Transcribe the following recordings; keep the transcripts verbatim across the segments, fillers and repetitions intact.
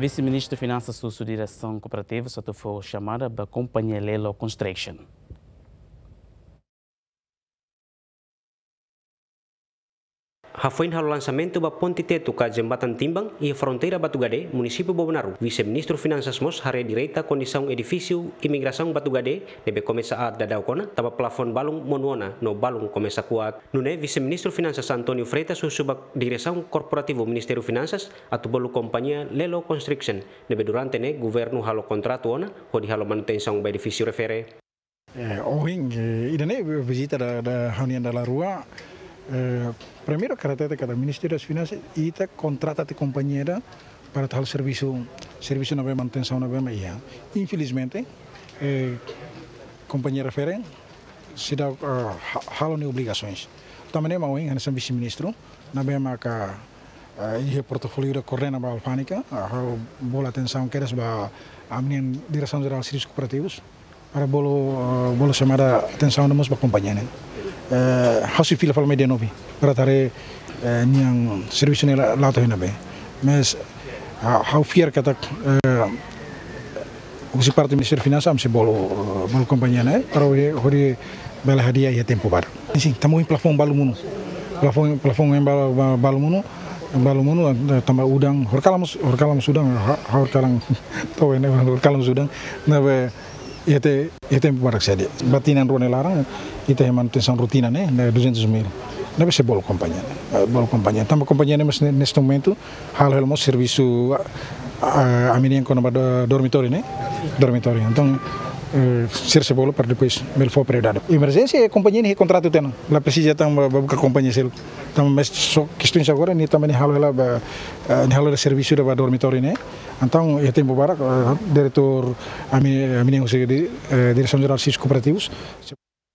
Vise-Ministru Finansas husu diresaun kooperativas atu fó xamada ba kompañia Lelo Construction. Hafoin halo lansamentu ba ponte tetu ka jembatan timbang iha fronteira Batugade, munisípiu Bobonaro, Vise-Ministru Finansas mós haree direta kondisaun edifísiu Imigrasaun Batugade, ne'ebé komesa aat daudauk ona, tanba plafon balun monu ona no balun komesa kuak. Nune'e Vise-Ministru Finansas António Freitas husu ba diresaun korporativu Ministériu Finansas atu bolu kompañia Lelo Construction, ne'ebé durante ne'e governu halo kontratu ona hodi halo manutensaun ba edifísiu refere. Eh, ohin, eh, ida-ne'e vizita da, da reunião da Larua. Eh, primeiru, katak hatete katak Ministériu das Finansas, ita kontrata tiha kompañia ida para halo servisu, servisu ne'ebé manutensaun ne'ebé mak iha. Infelizmente, eh, kompañia refere seidauk, eh, ha-, halo nia obrigasoens. Tanba ne'e mak ohin, hanesan Vise-Ministru, ne'ebé maka, eh, iha portofóliu ida koordena ba alfándega, eh, ha'u bolu atensaun kedas ba ami-nian Diresaun Jerál Servisus Kooperativus, para bolu, eh, bolu xamada atensaun mós ba kompañia ne'e. Eh, ha'u sei fila fali mai dia nove, para haree, eh, nian servisu ne'e la-, la'o to'o iha ne'ebé. Mas, ah, ha'u fiar katak, eh, husi parte Ministériu Finansas, ami sei bolu, eh, bolu kompañia ne'e, para hodi, hodi bele hadi'a iha tempu badak. Sin, tanba ohin plafon balun monu. Plafon, plafon ohin ba-, ba-, balun monu, balun monu, eh, tanba udan, horikalan mós, horikalan mós udan, ha-, ha-, horikalan, to'o ne'e, horikalan mós udan, ne'ebé, iha te-, iha tempu badak saida. Ba tinan rua nia laran, ita iha manutensaun rotina ne'e, ne'e duzentos mil. Ne'ebé sei bolu kompañia ne'e, eh, bolu kompañia. Tanba kompañia ne'e mós ne-, neste momento, halo hela mós servisu, ah, ah, ami-nian kona-ba do-, dormitóriu ne'e, dormitóriu. Entaun, eh, sira sei bolu para depois bele fó prioridade. Emerjénsia, eh, kompañia ne'e kontratu tiha ona. La presiza tan ba, ba buka kompañia seluk. Tanba mas só kestaun agora, nia tanba nia halo hela ba, eh, nia halo hela servisu ida ba dormitóriu ne'e. Entaun, iha tempu badak, eh, diretór ami, ami-nian husi di-, eh, Diresaun Jerál Servisus Kooperativus.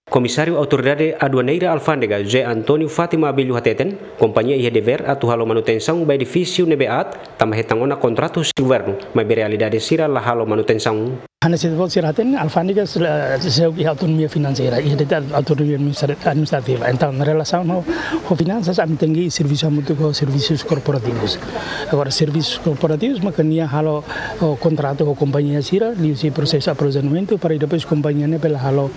Komisáriu Autoridade Aduaneira Alfándega, José António Fátima Abello hateten, kompañia iha devér atu halo manutensaun ba edifísiu ne'ebé aat, tanba hetan ona kontratu husi governu, maibé realidade sira la halo manutensaun. Hanesan sira hateten, alfándega sira, sira iha autonomia finanseira, iha de'it autonomia administra-, administrativa. Entaun, relasaun ho, ho finansas, ami tenke servisu hamutuk ho servisus korporativus. Agora, servisus korporativus, maka nia halo, o, kontratu ho kompañia sira, liuhusi prosesu aprovizionamentu, para depois kompañia ne'e bele halo,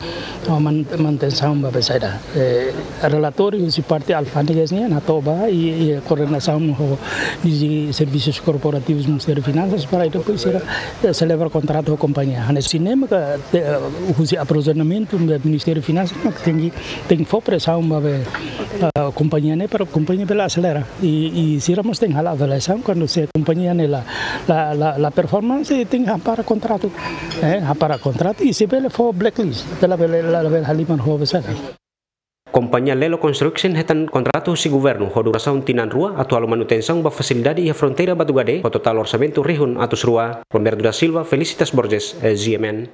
o, man-, manutensaun ba be saida. Eh, relatóriu husi parte alfándegas nian hato'o ba i, i koordenasaun ho Diresaun Servisus Korporativus Ministériu Finansas para depois sira, eh, selebra kontratu ho kompañia. Hanesan ne'e maka, eh, husi aprovizionamentu Ministériu Finansas mak tenke, tenke fó presaun ba be, eh, kompañia ne'e para kompañia bele aselera. I, i sira mós tenke halo avaliasaun kuandu se kompañia ne'e la, la, la, la performance, tenke hapara kontratu. Eh, hapara kontratu i se bele fó blacklist. Bele, bele, la, bele halimar ho be saida. Kompañia Lelo Construction hetan kontratu husi governu ho durasaun tinan rua atu halo manutensaun ba fasilidade iha fronteira Batugade ho totál orsamentu rihun atus rua. Roberto da Silva, Felicitas Borges, eh, G M N.